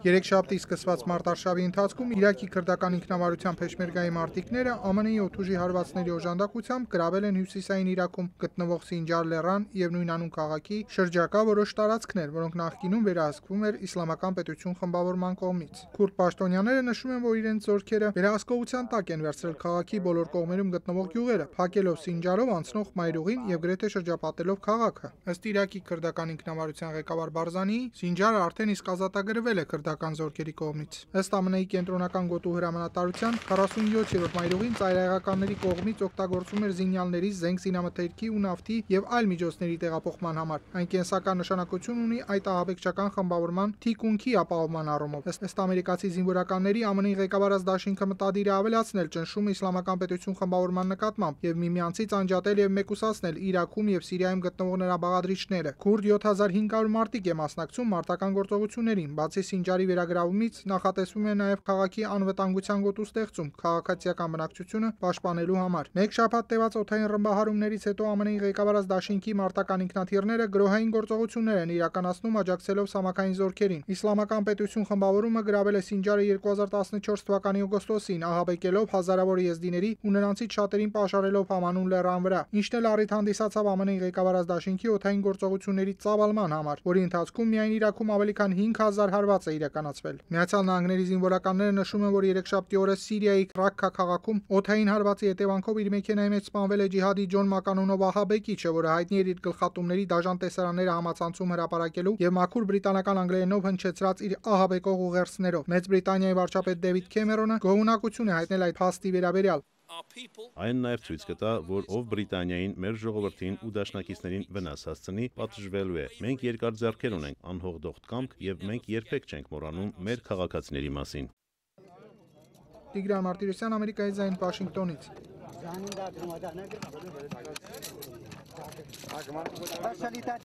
Երեքշաբթի սկսված մարտարշավի ընթացքում Իրաքի քրդական ինքնավարության փեշմերգայի մարտիկները ԱՄՆ-ի օդուժի հարվածների օժանդակությամբ գրավել են հյուսիսային Իրաքում գտնվող Սինջար լեռան և նույնանուն քաղաքի շրջակա որոշ տարածքներ, որոնք նախկինում վերահսկվում էր Իսլամական պետություն խմբավորման կողմից։ Քուրդ պաշտոնյաները նշում են, որ իրենց զորքերը վերահսկողության տակ են վերցրել քաղաքի բոլոր կողմերում գտնվող գյուղերը, փակելով Սինջարով անցնող մայրուղին և գրեթե շրջապատելով քաղաքը։ Ըստ Իրաքի քրդական ինքնավարության ղեկավար Բարզանիի, Սինջարը արդեն իսկ ազատագրվել է քրդական զորքերի կողմից։ Ըստ ԱՄՆ-ի կենտրոնական գոտու հրամանատարության 47-րդ մայրուղին ծայրահեղականների կողմից օգտագործվում էր զինյալների, զենք զինամթերքի ու նավթի և այլ միջոցների տեղափոխման համար։ Այն կենսական նշանակություն ունի այդ ահաբեկչական խմբավորման թիկունքի ապահովման առումով։ Ըստ ամերիկացի զինվորականների, ԱՄՆ-ի ղեկավարած դաշինքը մտադիր է ավելացնել ճնշումը Իսլամական պետություն խմբավորման նկատմամբ և միմյանցից անջատել և մեկուսացնել Իրաքում և Սիրիայում գտնվող նրա բաղադրիչները։ Քուրդ 7500 մարտիկ է մասնակցում մարտական գործողություններին։ Բացի Սինջարի վերագրավումից, նախատեսվում է նաև քաղաքի անվտանգության գոտու ստեղծում քաղաքացիական բնակչությունը պաշտպանելու համար։ Մեկ շաբաթ տևած օդային ռմբահարումներից հետո ԱՄՆ-ի ղեկավարած դաշինքի մարտական ինքնաթիռները գրոհային գործողություններ են իրականացնում աջակցելով ցամաքային զորքերին։ Իսլամական պետություն խմբավորումը գրավել է Սինջարը 2014 թվականի օգոստոսին, ահաբեկելով հազարավոր եզդիների ու նրանցից շատերին պաշարելով Համանուն լեռան վրա, ինչն էլ առիթ հանդիսացավ ԱՄՆ-ի ղեկավարած դաշինքի օդային գործողությունների ծավալման համար, որի ընթացքում միայն Իրաքում ավելի քան 5000 հարված է իրականացվել։ Միացյալ Նահանգների զինվորականները նշում են, որ երեքշաբթի օրը Սիրիայի Ռաքքա քաղաքում օդային հարվածի հետևանքով իր մեքենայի մեջ սպանվել է ջիհադի Ջոն Մականունով ահաբեկիչը, որը հայտնի էր իր գլխատումների դաժան տեսարանները համացանցում հրապարակելու և մաքուր բրիտանական անգլերենով հնչեցրած իր ահաբեկող ուղերձներով։ Մեծ Բրիտանիայի վարչապետ Դեվիդ Քեմերոնը գոհունակություն է հայտնել այդ փաստի վերաբերյալ։ Այն նաև ցույց կտա, որ ով Բրիտանիային, մեր ժողովրդին ու դաշնակիցներին վնաս հասցնի, պատժվելու է։ Մենք երկար ձեռքեր ունենք, անհողդող կամք և մենք երբեք չենք մոռանում մեր քաղաքացիների մասին։ Տիգրան Մարտիրոսյան, Ամերիկայի ձայն, Վաշինգտոնից։